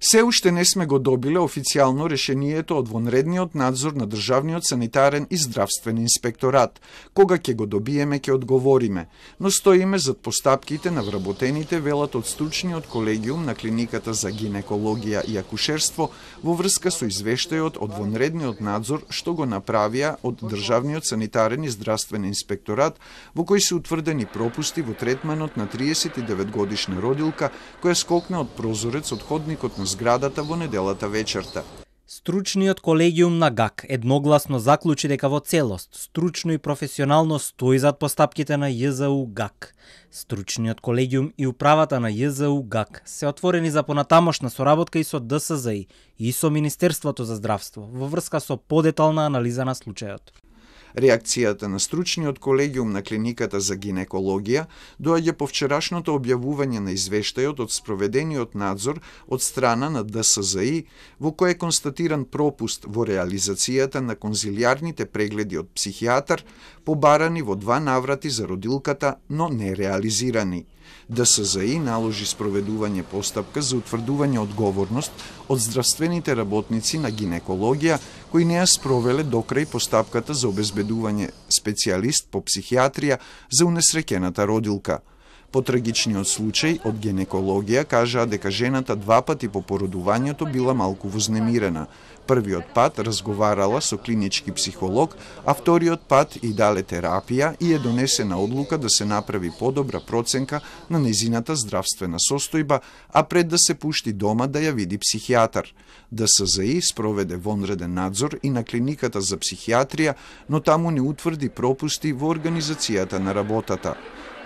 Се уште не сме го добиле официјално решението од вонредниот надзор на Државниот санитарен и здравствен инспекторат. Кога ќе го добиеме, ќе одговориме, но стоиме зад постапките на вработените, велат од стручниот колегиум на клиниката за гинекологија и акушерство во врска со извештајот од вонредниот надзор што го направија од Државниот санитарен и здравствен инспекторат, во кој се утврдени пропусти во третманот на 39-годишна родилка која скокна од прозорец од ходникот на зградата во неделата вечерта. Стручниот колегиум на ГАК едногласно заклучи дека во целост, стручно и професионално стои зад постапките на ЈЗУ ГАК. Стручниот колегиум и управата на ЈЗУ ГАК се отворени за понатамошна соработка и со ДСЗИ и со Министерството за здравство во врска со подетална анализа на случајот. Реакцијата на стручниот колегиум на клиниката за гинекологија доаѓа по вчерашното објавување на извештајот од спроведениот надзор од страна на ДСЗИ, во кој е констатиран пропуст во реализацијата на конзилијарните прегледи од психијатар, побарани во 2 наврати за родилката, но не реализирани. ДСЗИ наложи спроведување постапка за утврдување одговорност од здравствените работници на гинекологија кои не ја спровеле докрај постапката за обезбедување специјалист по психијатрија за унесреќената родилка. По трагичниот случај од гинекологија кажаа дека жената 2 пати по породувањето била малку вознемирена. Првиот пат разговарала со клинички психолог, а вториот пат и дале терапија и е донесена одлука да се направи подобра проценка на незината здравствена состојба, а пред да се пушти дома да ја види психијатар. ДСЗИ спроведе вонреден надзор и на клиниката за психијатрија, но таму не утврди пропусти во организацијата на работата.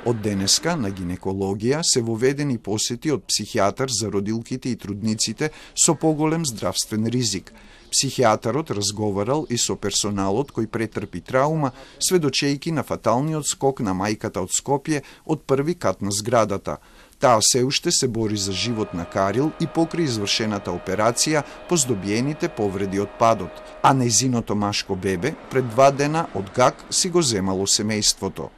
Од денеска на гинекологија се воведени посети од психијатар за родилките и трудниците со поголем здравствен ризик. Психијатарот разговарал и со персоналот кој претрпи траума, сведочејки на фаталниот скок на мајката од Скопје од први кат на зградата. Таа се уште се бори за живот на Карил и покрај извршената операција по здобиените повреди од падот, а нејзиното машко бебе пред 2 дена од ГАК си го земало семејството.